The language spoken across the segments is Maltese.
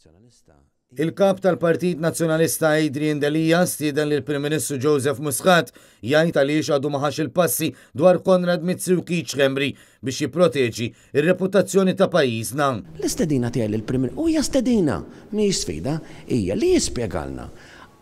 Nazzjonalista Il-Kap tal-Partit Nazzjonalista Adrian Delia stieden lill-Prim Ministru Joseph Muscat jgħid għaliex għadu ma ħax il-passi dwar Konrad Mizzi u Keith Schembri biex jipproteġi r-reputazzjoni ta' pajjiżna. L-istedina tiegħi lill-Prim u hija stedina, mhijiex sfida, hija li jispjegalna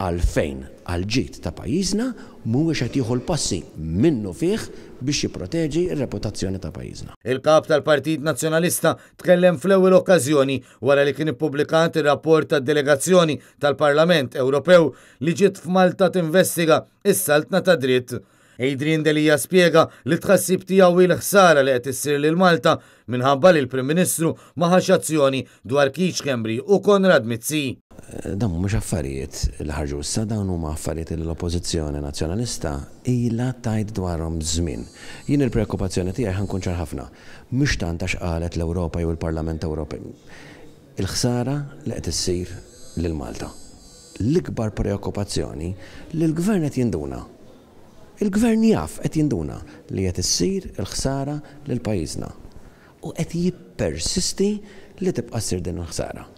għalfejn għall-ġid ta' pajjiżna mhuwiex qed jieħu l-passi minnufih biex jipproteġi r-reputazzjoni ta' pajjiżna. Il-Kap tal-Partit Nazzjonalista tkellem fl-ewwel okkażjoni wara li kien ippubblikat ir-rapport tad-delegazzjoni tal-Parlament Ewropew li ġiet f'Malta tinvestiga s-saltna tad-dritt. Adrian Delia spjega li t-tħassib tiegħu hi l-ħsara li qed issir lil Malta minħabba li l-Prim Ministru ma ħax azzjoni dwar Keith Schembri u Konrad Mizzi. Dawn mhumiex affarijiet li ħarġu issa, dawn huma affarijiet li l-Oppożizzjoni Nazzjonalista ilha tgħid dwarhom żmien. Jien il-preokkupazzjoni tiegħi, ħa nkun ċar ħafna, mhux tant għax qalet l-Ewropa jew il-Parlament Ewropew. Il-ħsara li qed issir lil Malta. L-ikbar preokkupazzjoni li l-Gvern qed jinduna. Il-Gvern jaf, qed jinduna li qed issir il-ħsara lil pajjiżna u qed jippersisti li tibqa' ssir din il-ħsara.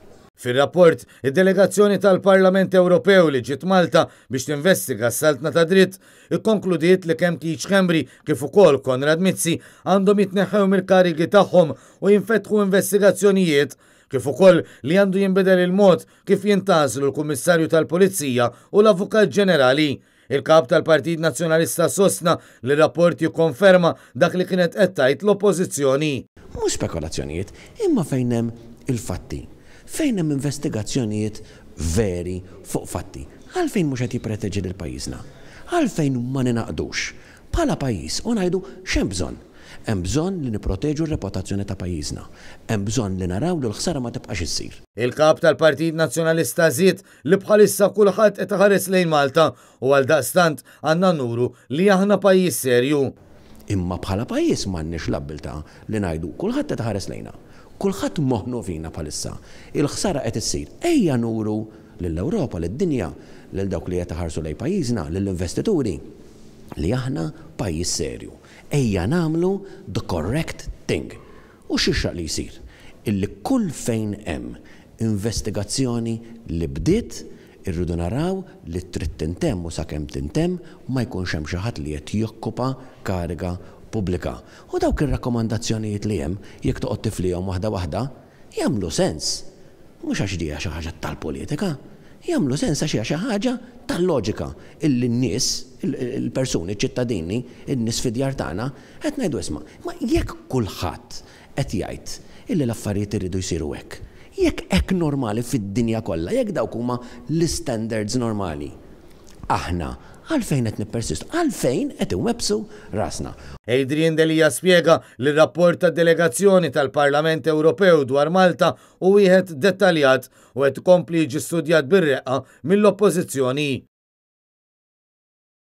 Fir-rapport, id-delegazzjoni tal-Parlament Ewropew li ġiet Malta biex tinvestiga s-saltna tad-dritt ikkonkludiet li kemm Keith Schembri kif ukoll Konrad Mizzi għandhom jitneħħew mill-karigi tagħhom u jinfetħu investigazzjonijiet kif ukoll li għandu jinbidel il-mod kif jintgħażlu l-Kummissarju tal-Pulizija u l-Avukat Ġenerali. Il-Kap tal-Partit Nazzjonalista sostna li r-rapport jikkonferma dak li kienet qed tgħid l-Oppożizzjoni. Mhux spekulazzjonijiet, imma fejn hemm il-fatti, fejn hemm investigazzjonijiet veri fuq fatti. Għalfejn mhux qed jippreteġi lil pajjiżna? Għalfejn ma ningħaqdux bħala pajjiż u ngħidu x'hemm bżonn? Hemm bżonn li nipproteġu r-reputazzjoni ta' pajjiżna. Hemm bżonn li naraw li l-ħsara ma tibqax issir. Il-Kap tal-Partit Nazzjonalista żied li bħalissa kulħadd qed iħares lejn Malta u għaldaqstant għandna nuru li aħna pajjiż serju. Imma bħala pajjiż m'għandniex l-abbiltà li ngħidu kulħadd qed iħares lejna. Kulħadd moħħnu fina bħalissa. Il-ħsara qed issir. Ejja nuru lill-Ewropa, lid-dinja, lil dawk li qed iħarsu lejn pajjiżna, lill-investituri, li aħna pajjiż serju. Ejja nagħmlu the correct thing. U x'jixraq li jsir? Illi kull fejn hemm investigazzjoni li bdiet, irridu naraw li trid tintemm u sakemm tintemm ma jkunx hemm xi ħadd li qed jokkupa kariga pubblika. U dawk ir-rakkomandazzjonijiet li hemm, jekk toqgħod tiflihom waħda waħda, jagħmlu sens. Mhux għax di hija xi ħaġa tal-politika, jagħmlu sens għax hija xi ħaġa tal-loġika illi n-nies, il-persuni, iċ-ċittadini, in-nies fid-djar tagħna, qed ngħidu isma', imma jekk kulħadd qed jgħid illi l-affarijiet iridu jsiru hekk, jekk hekk normali fid-dinja kollha, jekk dawk huma l-istandards normali, aħna għalfejn qed nippersistu? Għalfejn qed inwebbsu rasna? Adrian Delia spjega li r-rapport tad-delegazzjoni tal-Parlament Ewropew dwar Malta hu wieħed dettaljat u qed ikompli jiġi studjat bir-reqqa mill-Oppożizzjoni.